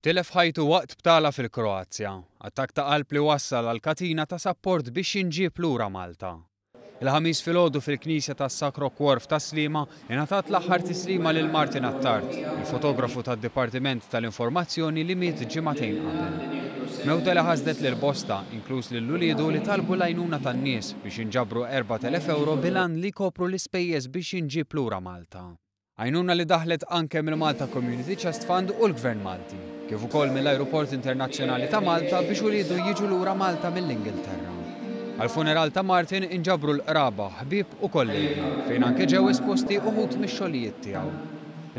Tilef ħajtu waqt btala fil-Kroazja, attakk ta' qalb li wassal għal katina ta' sapport biex jinġieb lura Malta. Il-Ħamis filgħodu fil-Knisja tas-Sacro Cuor f'Tas-Sliema ingħatat l-aħħar tislima lil Martin Attard, il-fotografu tad-Dipartiment tal-Informazzjoni li miet ġimagħtejn qabel. Mewta li ħasdet lil bosta, inkluż lil uliedu li talbu l-għajnuna tan-nies biex jinġabru 4,000 ewro bil-għan li jkopru l-ispejjeż biex jinġieb lura Malta. Għajnuna li daħlet anke mill-Malta Community Chest Fund u l-Gvern Malti, kif ukoll mill-Ajruport Internazzjonali ta' Malta biex uliedu jiġu lura Malta mill-Ingilterra. Għall-funeral ta' Martin inġabru l-qraba, ħbieb u kollegi, fejn anke ġew esposti uħud mix-xogħlijiet tiegħu.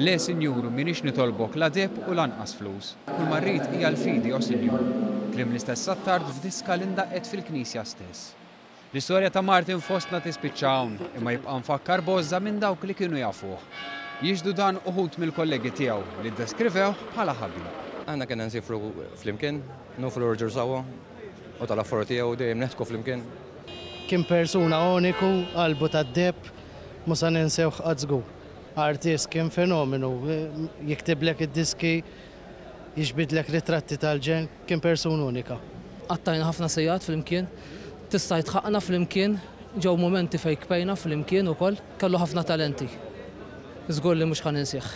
Le, Sinjur, m'iniex nitolbok la deheb u lanqas flus. Kull ma rrid hija l-fidi, o Sinjur. Kliem l-istess Attard f'diska li ndaqqet fil-knisja stess. L-istorja ta' Martin fostna tispiċċa hawn, imma jibqa' mfakkar b'għożża minn dawk li kienu jafuh. Jixhdu dan uħud mill-kollegi tiegħu li ddeskrivewh bħala ħabib. Aħna konna nsifru flimkien, nofru Roger sawa u tal-affari tiegħu dejjem neħtku flimkien. Kien persuna uniku, qalbu tad-deheb, mhu sa ninsewh qatt żgur. Artist kien fenomenu, jiktiblek id-diski, jiġbidlek ritratti tal-ġenn, kien persuna unika. Qattajna ħafna sigħat flimkien, tista' tgħid flimkien, ġew mumenti fejn bkejna flimkien ukoll, kellu ħafna talenti. Żgur li mhux ħa ninsih.